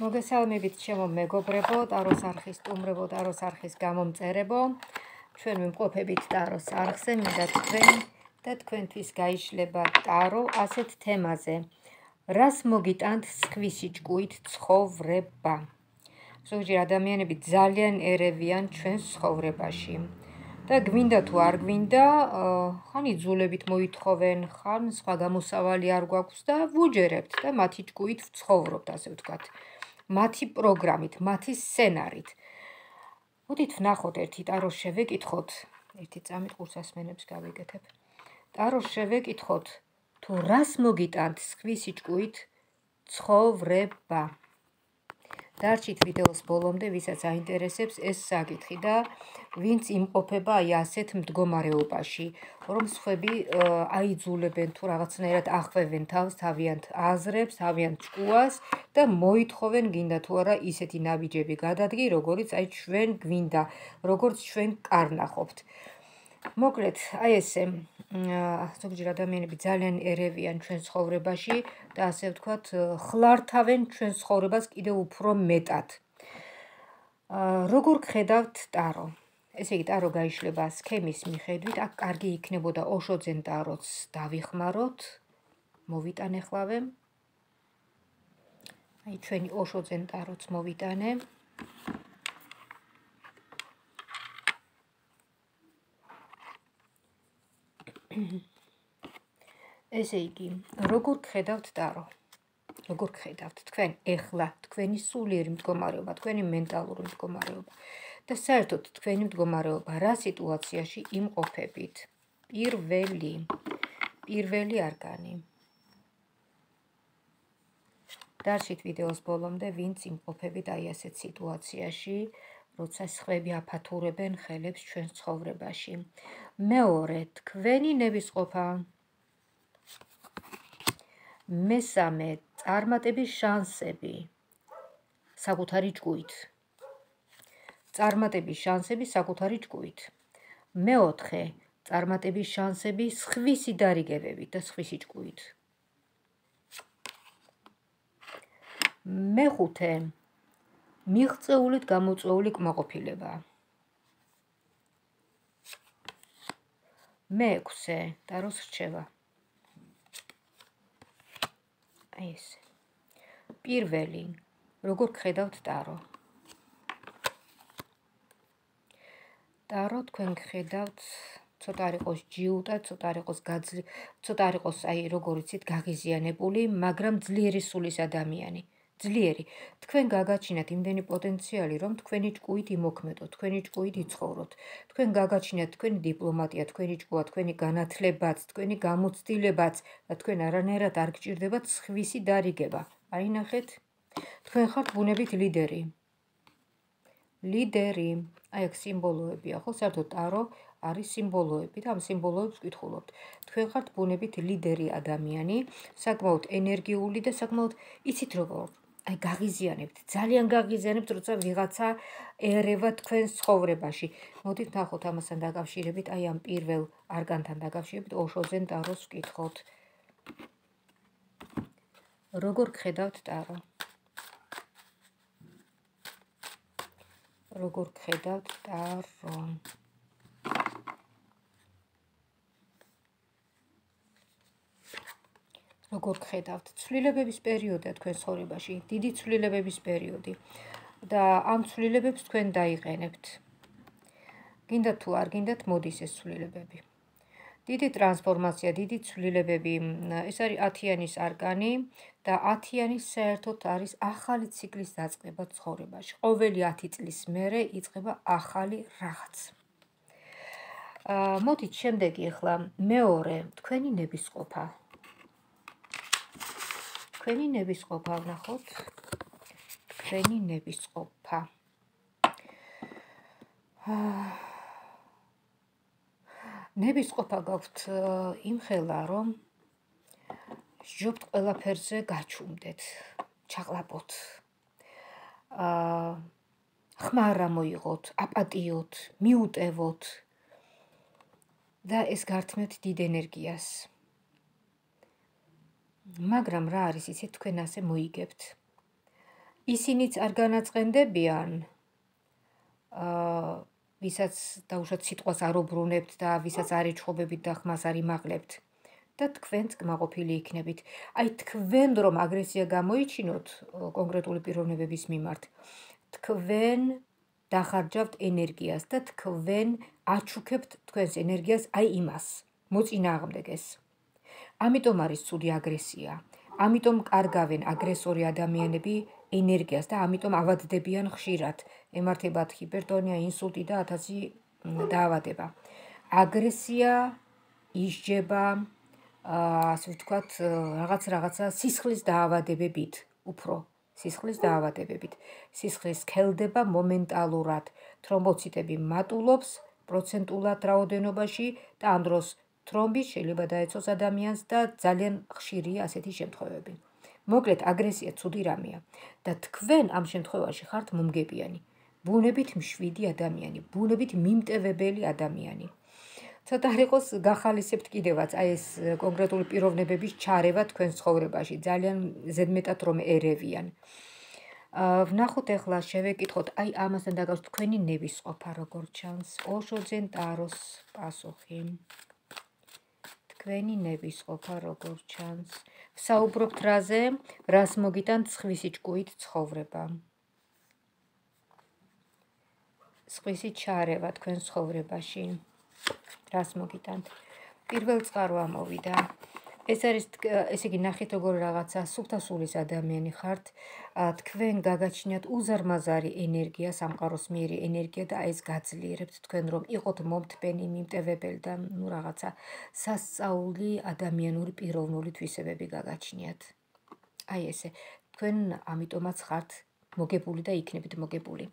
მოგესალმებით ჩემო მეგობრებო, ტაროს არხის სტუმრებო, ტაროს არხის გამომწერებო. ჩვენ ვიმყოფებით ტაროს არხზე, მინდა თქვენ და თქვენთვის გაიშლება ტარო ასეთ თემაზე. რას მოგიტანთ სხვისი ჭკუით ცხოვრება? ზოგჯერ ადამიანები ძალიან ერევიან ჩვენს ცხოვრებაში. და გვინდა თუ არ გვინდა, ხან იძულებით მოითხოვენ, ხან სხვა გამოსავალი არ გვაქვს და ვუჯერებთ და მათი ჭკუით ვცხოვრობთ, ასე ვთქვათ. მათი პროგრამით, მათი სცენარით. მოდით ვნახოთ ერთი ტაროს შევეკითხოთ, ერთი წამით ყურსასმენებს გავეკეთებ. ტაროს შევეკითხოთ, თუ რას მოგიტანთ სხვისი ჭკუით ცხოვრება? დარჩით ვიდეოს ბოლომდე, ვისაც აინტერესებს ეს საკითხი და ვინც იმყოფება აი ასეთ მდგომარეობაში, რომ სხვები აიძულებენ თუ რაღაცნაირად ახვევენ თავს, თავიანთ აზრებს, თავიანთ ჭკუას და მოითხოვენ გინდა თუ არა ისეთი ნაბიჯები გადადგი, როგორიც აი ჩვენ გვინდა, როგორც ჩვენ კარნახობთ. მოკლედ, აი ესე, ზოგჯერ ადამიანები ძალიან ერევიან ჩვენ ცხოვრებაში და ასე ვთქვათ, ხლართავენ ჩვენ ცხოვრებას კიდევ უფრო მეტად. როგორ გხედავთ ტარო? ესე იგი, ტარო გაიშლება სქემის მიხედვით, აქ კარგი იქნებოდა ოშოძენ ტაროც დავიხმაროთ. მოვიტანე ხლავე. აი ჩვენი ოშოძენ ტაროც მოვიტანე. ესე იგი, როგორ გხედავთ ტარო? როგორ გხედავთ თქვენ ეხლა, თქვენი სულიერი მდგომარეობა, თქვენი მენტალური მდგომარეობა და საერთოდ თქვენი მდგომარეობა რა სიტუაციაში იმყოფებით? პირველი არგანი. დარჩით ვიდეოს ბოლომდე, ვინც იმყოფებით აი ასეთ სიტუაციაში, როცა სხვები აფათურებენ ხელებს ჩვენ ცხოვრებაში. მეორე, თქვენი ნებისყოფა. მესამე, წარმატების შანსები საკუთარი ჭკუით. წარმატების შანსები საკუთარი ჭკუით. მეოთხე, წარმატების შანსები სხვისი დარიგებებით და სხვისი ჭკუით. მეხუთე, მიღწეულით გამოწვეული კმაყოფილება. მეექვსე, ტაროს რჩევა. აი ესე. პირველი, როგორ გხედავთ ტარო? ტარო თქვენ გხედავთ, ცოტა არ იყოს ჯიუტა, ცოტა არ იყოს ცოტა არ იყოს აი როგორ იცით გაღიზიანებული, მაგრამ ძლიერი სულის ადამიანი. ძლიერი. თქვენ გაგაჩინათ იმდენი პოტენციალი, რომ თქვენი ჭკუით იმოქმედოთ, თქვენი ჭკუით იცხოვროთ. თქვენ გაგაჩინათ თქვენი დიპლომატია, თქვენი ჭკუა, თქვენი განათლებაც, თქვენი გამოცდილებაც და თქვენ არანაირად არ გჭირდებათ სხვისი დარიგება. აი ნახეთ, თქვენ ხართ ბუნებით ლიდერი. ლიდერი. აი აქ სიმბოლოებია, ხო? საერთოდ ტარო არის სიმბოლოები და ამ სიმბოლოებს ვკითხულობთ. თქვენ ხართ ბუნებით ლიდერი ადამიანი, საკმაოდ ენერგიული და საკმაოდ იცით როგორ აი გაღიზიანებთ, ძალიან გაღიზიანებთ, როცა ვიღაცა ერევა თქვენს ცხოვრებაში. მოდით ნახოთ ამასთან დაკავშირებით, აი ამ პირველ არგანთან დაკავშირებით ოშოძენ ტაროს ვკითხოთ. როგორ გხედავთ ტარო? როგორ გხედავთ ტარო? როგორ გხედავთ? ცვლილებების პერიოდია თქვენ ცხოვრებაში, დიდი ცვლილებების პერიოდი და ამ ცვლილებებს თქვენ დაიყენებთ. გინდათ თუ არ გინდათ, მოდის ეს ცვლილებები. დიდი ტრანსფორმაცია, დიდი ცვლილებები, ეს არის 10-იანის არგანი და 10-იანი საერთოდ არის ახალი ციკლის დაწყება ცხოვრებაში. ყოველი 10 წლის მერე იწყება ახალი რაღაც. მოდით შემდეგი ახლა მეორე, თქვენი ნებისყოფა. თქვენი ნებისყოფა ვნახოთ. თქვენი ნებისყოფა. ნებისყოფა გაქვთ იმხელა, რომ სჯობთ ყველაფერზე გაჩუმდეთ, ჩაღლაპოთ. ხმა არ ამოიღოთ, აპატიოთ, მიუტევოთ და ეს გართმევთ დიდ ენერგიას. მაგრამ რა არის იცით, თქვენ ასე მოიგებთ. ისინიც არ განაწყენდებიან, ვისაც დაუშვათ სიტყვას არ უბრუნებთ და ვისაც არ ეჩხობებით და ხმას არ იმაღლებთ და თქვენც კმაყოფილი იქნებით. აი თქვენ რომ აგრესია გამოიჩინოთ კონკრეტული პიროვნებების მიმართ, თქვენ დახარჯავთ ენერგიას და თქვენ აჩუქებთ თქვენს ენერგიას აი იმას, მოწინააღმდეგეს. ამიტომ არის ცუდი აგრესია. ამიტომ კარგავენ აგრესორი ადამიანები ენერგიას და ამიტომ ავადდებიან ხშირად. ემართებათ ჰიპერტონია, ინსულტი და 1000 დაავადება. აგრესია ისჯება, ასე ვთქვათ, რაღაცა სისხლის დაავადებებით, უფრო სისხლის დაავადებებით. სისხლი სქელდება მომენტალურად, თრომბოციტები მატულობს პროცენტულად რაოდენობაში და ამ დროს თრომბი შეიძლება დაეწოს ადამიანს და ძალიან ხშირია ასეთი შემთხვევები. მოკლედ, აგრესია ცუდი რამეა და თქვენ ამ შემთხვევაში ხართ მომგებიანი, ბუნებით მშვიდი ადამიანი, ბუნებით მიმტევებელი ადამიანი. ცოტა არ იყოს გახალისებთ კიდევაც აი ეს კონკრეტული პიროვნებების ჩარევა თქვენს ცხოვრებაში, ძალიან ზედმეტად რომ ერევიან. ვნახოთ ახლა შევეკითხოთ აი ამასთან დაკავშირებით თქვენი ნებისყოფა როგორ ჩანს. ოშოძენ ტაროს პასუხი. თქვენი ნებისყოფა როგორ ჩანს. ვსაუბრობთ რაზე, რას მოგიტანთ სხვისი ჭკუით ცხოვრება. სხვისი ჩარევა თქვენ ცხოვრებაში. რას მოგიტანთ. პირველ წყარვა მოვიდა. ეს არის, ესე იგი, ნახეთ როგორ რაღაცა სუფთასულის ადამიანი ხართ, თქვენ გაგაჩნიათ უზარმაზარი ენერგია, სამყაროსმიერი ენერგია და ეს გაძლიერებთ თქვენ რომ იყოთ მომთბენი, მიმტევებელი და ნუ რაღაცა სასწაული ადამიანური პიროვნული თვისებები გაგაჩნიათ. აი ესე, თქვენ ამიტომაც ხართ მოგებული და იქნებით მოგებული.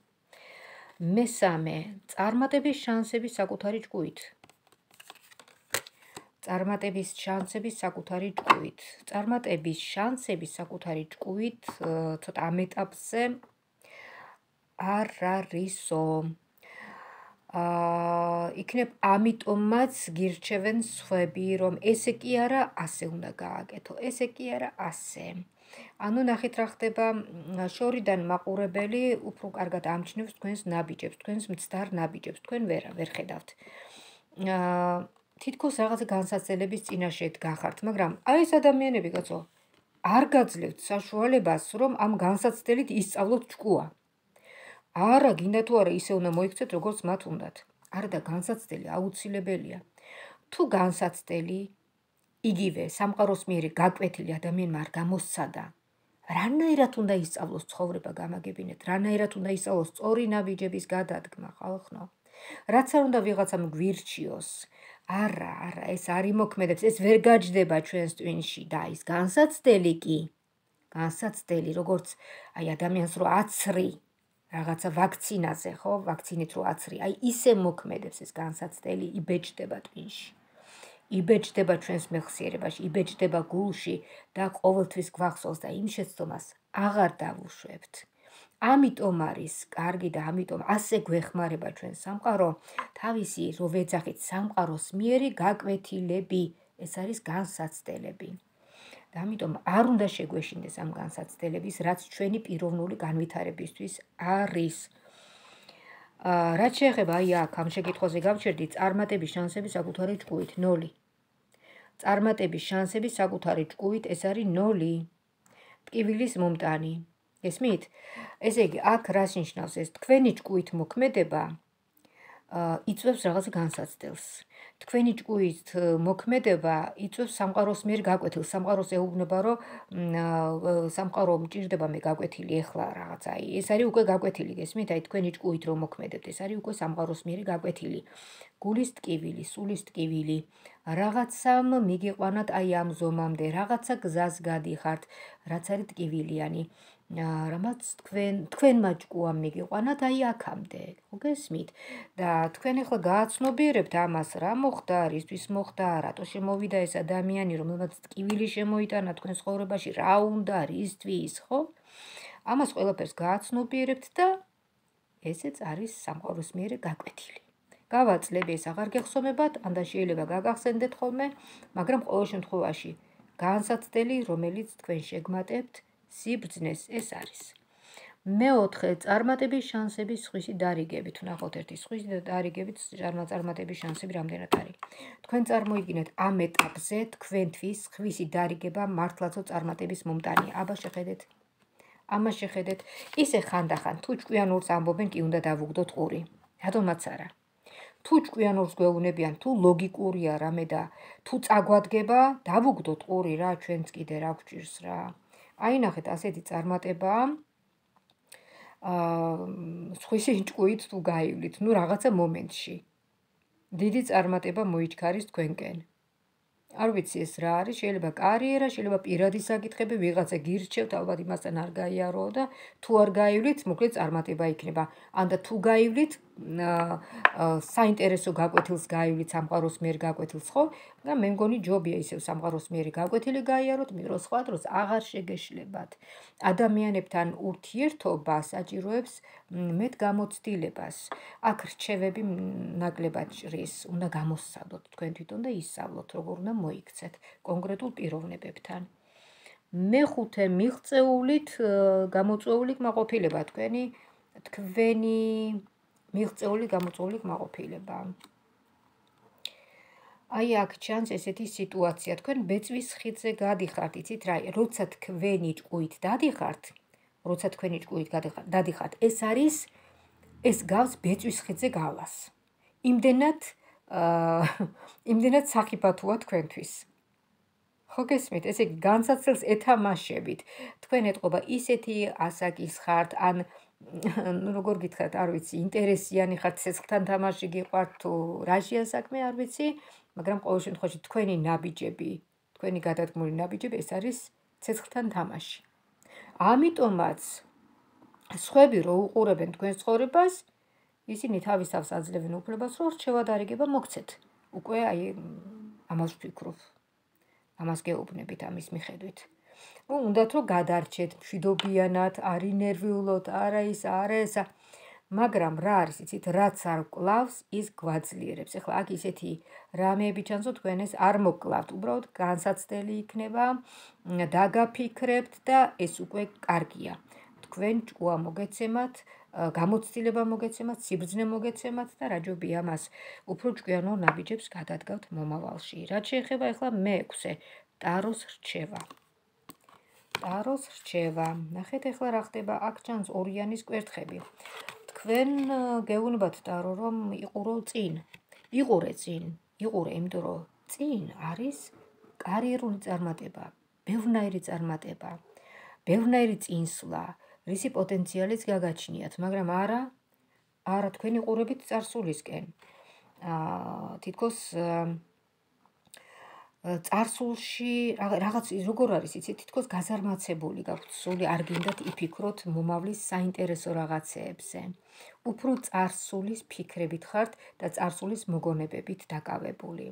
მესამე, წარმატების შანსები საკუთარი ჭკუით. წარმატების შანსები საკუთარი ჭკუით. წარმატების შანსები საკუთარი ჭკუით ცოტა ამ ეტაპზე არ არისო. იქნებ ამიტომაც გირჩევენ სხვები, რომ ესე კი არა, ასე უნდა გააკეთო, ესე კი არა, ასე. ანუ ნახეთ რა ხდება, შორიდან მაყურებელი უფრო კარგად ამჩნევს თქვენს ნაბიჯებს, თქვენს მცდარ ნაბიჯებს, თქვენ ვერ ხედავთ. თითქოს რაღაც განსაცდელების წინაშე გახართ, მაგრამ აი ეს ადამიანები კაცო, არ გაძლევთ საშუალებას, რომ ამ განსაცდელით ისწავლოთ ჭკუა. არა, გინდა თუ არა ისე უნდა მოიქცეთ, როგორც მათ უნდათ. არა და განსაცდელი აუცილებელია. თუ განსაცდელი იგივე სამყაროსმიერი გაკვეთილი ადამიანმა არ გამოსცადა, რანაირად უნდა ისწავლოს ცხოვრება გამაგებინეთ, რანაირად უნდა ისწავლოს სწორი ნაბიჯების გადადგმა, ხალხო. რაც არ უნდა ვიღაცამ გვირჩიოს, არა, ეს არ იმოქმედებს, ეს ვერ გაჯდება ჩვენს ტვინში და ის განსაცდელი კი, განსაცდელი, როგორც აი ადამიანს რო აცრი, რაღაცა ვაქცინაზე, ხო, ვაქცინით რო აცრი, აი ისე მოქმედებს ეს განსაცდელი, იბეჭდება ტვინში. იბეჭდება ჩვენს მეხსიერებაში, იბეჭდება გულში და ყოველთვის გვახსოვს და იმ შეცდომას აღარ დავუშვებთ. ამიტომ არის კარგი და ამიტომ ასე გვეხმარება ჩვენ სამყარო, თავისი რო ვეძახით სამყაროსმიერი გაკვეთილები, ეს არის განსაცდელები. და ამიტომ არ უნდა შეგვეშინდეს ამ განსაცდელების, რაც ჩვენი პიროვნული განვითარებისთვის არის. რაც შეეხება აი აქ ამ შეკითხვაზე გავჩერდი, წარმატების შანსები საკუთარი ჭკუით 0. წარმატების შანსები საკუთარი ჭკუით ეს არის 0. ტკივილის მომტანი. ესმით? ესე იგი, აქ რას ნიშნავს ეს? თქვენი ჭკუით მოქმედება იწვევს რაღაც განსაცდელს. თქვენი ჭკუით მოქმედება იწვევს სამყაროს მიერ გაკვეთილს. სამყაროს ეუბნება, რომ სამყარო მჭირდება მე გაკვეთილი ეხლა რაღაცა. ეს არის უკვე გაკვეთილი, გესმით? აი თქვენი ჭკუით რომ მოქმედებთ, ეს არის უკვე სამყაროს მიერ გაკვეთილი. გულის ტკივილი, სულის ტკივილი, რაღაცამ მიგიყვანათ აი ამ ზომამდე, რაღაცა გზას გადიხართ, რაც არის ტკივილიანი. რამაც თქვენმა ჭკუამ მიგიყვანათ აი აქამდე, ხო გესმით? და თქვენ ახლა გააცნობიერებთ ამას, რა მოხდა, რისთვის მოხდა, რატო შემოვიდა ეს ადამიანი, რომელმაც ტკივილი შემოიტანა თქვენ ცხოვრებაში, რა უნდა, რისთვის, ხო? ამას ყველაფერს გააცნობიერებთ და ესეც არის სამყაროს მიერ გაკვეთილი. გავაწლები, ეს აღარ გეხსომებათ, ანდა შეიძლება გაგახსენდეთ ხოლმე, მაგრამ ყოველ შემთხვევაში განსაცდელი, რომელიც თქვენ შეგმატებთ, სიბრძნეს ეს არის. მეოთხე, წარმატების შანსები სხვისი დარიგებით. ვნახოთ ერთი სხვისი დარიგებით წარმატების შანსები რამდენად არის. თქვენ წარმოიდგინეთ ამ ეტაპზე თქვენთვის სხვისი დარიგება მართლაცო წარმატების მომტანია. აბა შეხედეთ. ამას შეხედეთ. ისე ხანდახან თუ ჭკვიანურს ამბობენ კი უნდა დავუგდოთ ყური. რატომაც არა. თუ ჭკვიანურს გვეუბნებიან, თუ ლოგიკურია რამე და თუ წაგვადგება, დავუგდოთ ყური რა, ჩვენც კიდე რა გვჭირს რა. აი ნახეთ, ასეთი წარმატებაა. სხვისი ჭკუით თუ გაივლით, ნუ რაღაცა მომენტში. დიდი წარმატება მოიჩქარის თქვენკენ. არ ვიცი ეს რა არის, შეიძლება კარიერა, შეიძლება პირადი საკითხები, ვიღაცა გირჩევთ, ალბათ იმასთან არ გაიაროო და თუ არ გაივლით, მოკლედ წარმატება იქნება. ან და თუ გაივლით, საინტერესო გაკვეთილს გაივლით, სამყაროს მიერ გაკვეთილს, ხო? და მე მგონი ჯობია ისევ სამყაროს მიერ გაკვეთილი გაიაროთ, მირო სხვა დროს აღარ შეგეშლებათ. ადამიანებთან ურთიერთობა საჭიროებს მეტ გამოცდილებას. აქ რჩევები ნაკლებად ჭრის, უნდა გამოსცადოთ თქვენ თვითონ და ისწავლოთ, როგორ უნდა მოიქცეთ კონკრეტულ პიროვნებებთან. მეხუთე, მიღწეულით გამოწვეული კმაყოფილება თქვენი მიღწეული გამოწვეული კმაყოფილება. აი აქ ჩანს ესეთი სიტუაცია, თქვენ ბეწვის ხიდზე გადიხართ, იცით რა, როცა თქვენი ჭკუით დადიხართ, ეს გავს ბეწვის ხიდზე გავლას. იმდენად სახიფათოა თქვენთვის. ხო გესმით, ესე იგი განსაცდელს ეთამაშებით. თქვენ ეტყობა ისეთი ასაკის ხართ, ან როგორ გითხრათ, არ ვიცი, ინტერესიანი ხართ, ცეცხლთან თამაში გიყვართ თუ რაშია საქმე, არ ვიცი, მაგრამ ყოველ შემთხვევაში თქვენი ნაბიჯები, თქვენი გადადგმული ნაბიჯები ეს არის ცეცხლთან თამაში. ამიტომაც სხვები რო უყურებენ თქვენს ცხოვრებას, ისინი თავის თავს აძლევენ უფლებას, რომ რჩევა დარიგება მოგცეთ. უკვე აი ამას ვფიქრობ. ამას გეუბნებით ამის მიხედვით. უნდათ რომ გადარჩეთ მშვიდობიანად, არ ინერვიულოთ, არა ის, არა ესა. მაგრამ რა არის, იცით, რაც არ კლავს, ის გვაძლიერებს. ეხლა აქ ისეთი რამეები ჩანსო თქვენ ეს არ მოკლავთ, უბრალოდ განსაცდელი იქნება, დაგაფიქრებთ და ეს უკვე კარგია. თქვენ ჭკუა მოგეცემათ, გამოცდილება მოგეცემათ, სიბრძნე მოგეცემათ და რაჯობია მას უფრო ჭკვიანურ ნაბიჯებს გადადგავთ მომავალში. რაც შეეხება ეხლა მე-6-ე, ტაროს რჩევა. ტაროს რჩევა. ნახეთ ეხლა რა ხდება, აქ ჩანს ორიანის კვერთხები. თქვენ გეუბნებათ ტარო რომ იყურო წინ. იყურე, იმიტომ რომ წინ არის კარიერული წარმატება, ბევრნაირი წარმატება, ბევრნაირი წინსვლა, რისი პოტენციალიც გაგაჩნიათ, მაგრამ არა თქვენ იყურებით წარსულისკენ. თითქოს წარსულში რაღაც როგორ არის, იცით, თითქოს გაზარმაცებული გაქვთ სული, არ გინდათ იფიქროთ მომავლის საინტერესო რაღაცეებზე. უფრო წარსულის ფიქრებით ხართ და წარსულის მოგონებებით დაკავებული.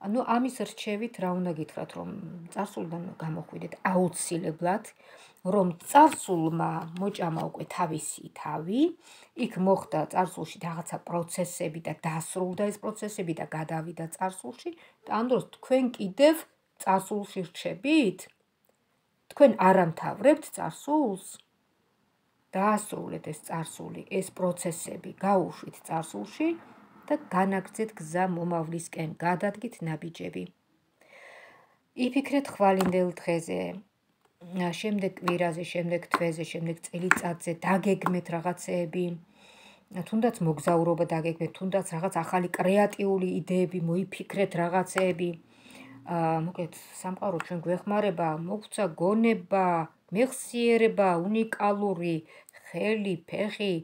ანუ ამის რჩევით რა უნდა გითხრათ, რომ წარსულიდან გამოხვიდეთ აუცილებლად, რომ წარსულმა მოჭამა უკვე თავისი თავი, იქ მოხდა წარსულში რაღაცა პროცესები და დასრულდა ეს პროცესები და გადავიდა წარსულში და ამ დროს თქვენ კიდევ წარსულში რჩებით, თქვენ არ ამთავრებთ წარსულს, დაასრულეთ ეს წარსული, ეს პროცესები გაუშვით წარსულში და განაგრძეთ გზა მომავლისკენ, გადადგით ნაბიჯები. იფიქრეთ ხვალინდელ დღეზე, შემდეგ კვირაზე, შემდეგ თვეზე, შემდეგ წელიწადზე, დაგეგმეთ რაღაცეები, თუნდაც მოგზაურობა დაგეგმეთ, თუნდაც რაღაც ახალი კრეატიული იდეები მოიფიქრეთ რაღაცეები. მოკლედ, სამყარო ჩვენ გვეხმარება, მოგცა გონება, მეხსიერება, უნიკალური ხელი, ფეხი,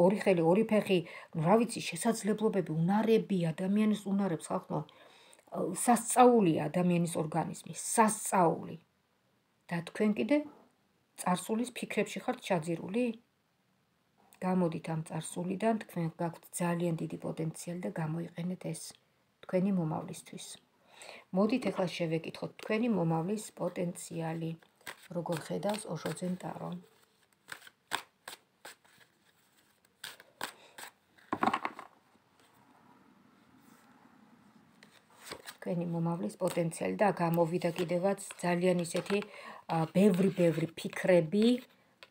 ორი ხელი, ორი ფეხი, რა ვიცი, შესაძლებლობები, უნარები, ადამიანის უნარებს ხალხო, სასწაულია ადამიანის ორგანიზმი, სასწაული. და თქვენ კიდე წარსულის ფიქრებში ხართ ჩაძირული? გამოდით ამ წარსულიდან, თქვენ გაქვთ ძალიან დიდი პოტენციალი და გამოიყენეთ ეს თქვენი მომავლისთვის. მოდით ახლა შევეკითხოთ თქვენი მომავლის პოტენციალი, როგორ ხედავს ოშოძენ ტარო. თქვენი მომავლის პოტენციალი და გამოვიდა კიდევაც ძალიან ისეთი ბევრი ფიქრები,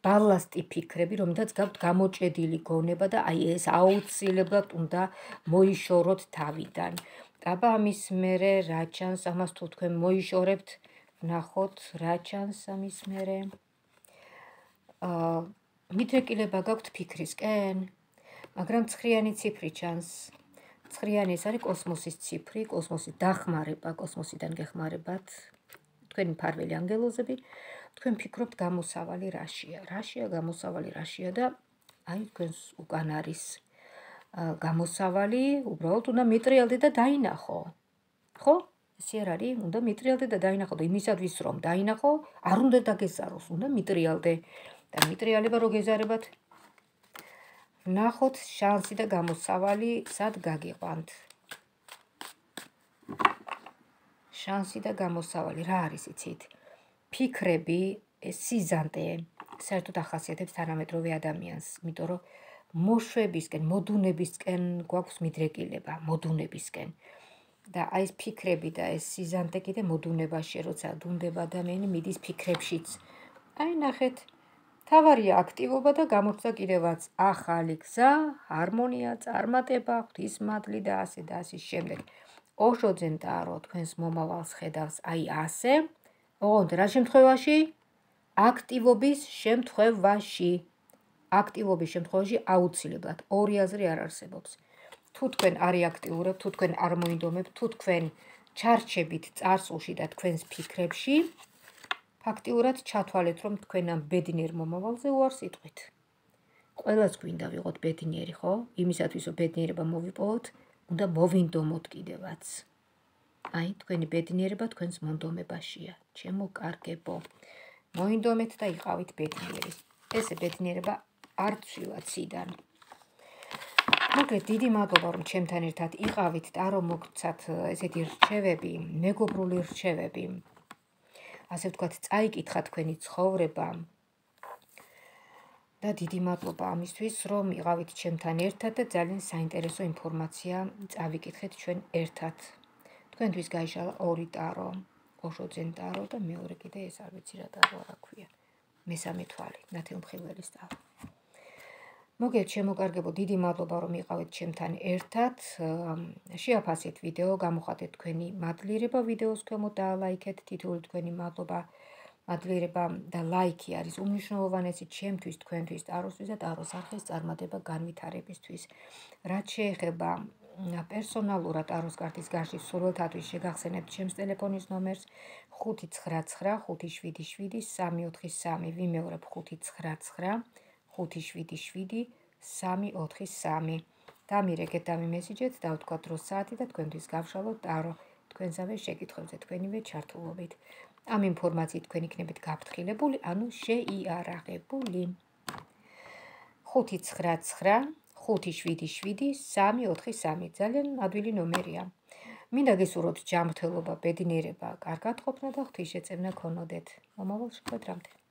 ბალასტი ფიქრები, რომელთაც გაქვთ გამოჭედილი გონება და აი ეს აუცილებლად უნდა მოიშოროთ თავიდან. აბა ამის მერე რა ჩანს, ამას თუ თქვენ მოიშორებთ, ვნახოთ რა ჩანს ამის მერე. მიდრეკილება გაქვთ ფიქრისკენ, მაგრამ ცხრიანი ციფრი ჩანს. ცხრიანი ეს არის კოსმოსის ციფრი, კოსმოსის დახმარება, კოსმოსიდან გეხმარებათ. თქვენი მფარველი ანგელოზები, თქვენ ფიქრობთ გამოსავალი რაშია. რაშია გამოსავალი რაშია და აი თქვენს უკან არის გამოსავალი, უბრალოდ უნდა მიტრიალდე და დაინახო. ხო? ესე არ არის, უნდა მიტრიალდე და დაინახო და იმისათვის რომ დაინახო, არ უნდა დაგეზაროს, უნდა მიტრიალდე. და მიტრიალება რო გეზარებათ, ვნახოთ შანსი და გამოსავალი სად გაგიყვანთ. შანსი და გამოსავალი რა არის იცით? ფიქრები, სიზანტე, საერთოდ ახასიათებს თანამედროვე ადამიანს, იმიტომ რომ მოშვებისკენ, მოდუნებისკენ გვაქვს მიდრეკილება, მოდუნებისკენ. და აი ეს ფიქრები და ეს სიზანტე კიდე მოდუნებაში, როცა დუნდება ადამიანი, მიდის ფიქრებშიც. აი ნახეთ, თავარია აქტივობა და გამორჩა კიდევაც ახალი გზა, ჰარმონია, წარმატება, ღვთისმადლი და ასე და ასე შემდეგ. ოშოძენ ტარო თქვენს მომავალს ხედავს აი ასე. ოღონდ რა შემთხვევაში? აქტივობის შემთხვევაში. აქტივობის შემთხვევაში აუცილებლად ორი აზრი არ არსებობს. თუ თქვენ არ აქტიურებთ, თუ თქვენ არ მოინდომებთ, თუ თქვენ ჩარჩებით წარსულში და თქვენს ფიქრებში, ფაქტიურად ჩათვალეთ, რომ თქვენ ამ ბედნიერ მომავალზე უარს იტყვით. ყველას გვინდა ვიყოთ ბედნიერი, ხო? იმისათვის, რომ ბედნიერება მოვიპოვოთ, უნდა მოვინდომოთ კიდევაც. აი, თქვენი ბედნიერება თქვენს მონდომებაშია. ჩემო კარგებო. მოინდომეთ და იყავით ბედნიერი. ესე ბედნიერება არ ცვივა ციდან. მოგეთ, დიდი მადლობა, რომ ჩემთან ერთად იყავით და რომ მოგცათ ესეთი რჩევები, მეგობრული რჩევები. ასე ვთქვათ, წაიკითხა თქვენი ცხოვრება. და დიდი მადლობა ამისთვის, რომ იყავით ჩემთან ერთად და ძალიან საინტერესო ინფორმაცია წავიკითხეთ ჩვენ ერთად. თქვენთვის გაიშალა ორი ტარო, ოშოძენ ტარო და მეორე კიდე ეს არ ვიცი რა ტარო რა ქვია. მესამე თვალი, ნათელმხილველის ტარო. მოგეთ, შემოკარგებო, დიდი მადლობა, რომ იყავით ჩემთან ერთად. შეაფასეთ ვიდეო, გამოხატეთ თქვენი მადლიერება ვიდეოს ქვემოთ და ლაიქეთ, თითოეული თქვენი მადლობა, მადლიერება და ლაიქი არის უმნიშვნელოვანესი ჩემთვის, თქვენთვის, ტაროსთვის და ტაროს არხის წარმატება განვითარებისთვის. რაც შეეხება პერსონალურად ტაროს კარტის გარშვის სურვილთათვის შეგახსენებთ ჩემს ტელეფონის ნომერს 599 577 343. ვიმეორებ 599 577 343. დამირეკეთ, დამიმესიჯეთ, დავთქვათ დროს საათი და თქვენთვის გავშალოთ ტარო თქვენსავე შეკითხვებზე თქვენივე ჩართულობით. ამ ინფორმაციით თქვენ იქნებით გაფრთხილებული, ანუ შეიარაღებული. 599 577 343. ძალიან ადვილი ნომერია. მინდა გესურვოთ ჯანმრთელობა, ბედნიერება, კარგად ყოფნა და ღვთისშეწევნა ქონოდეთ. მომავალ შეხვედრამდე.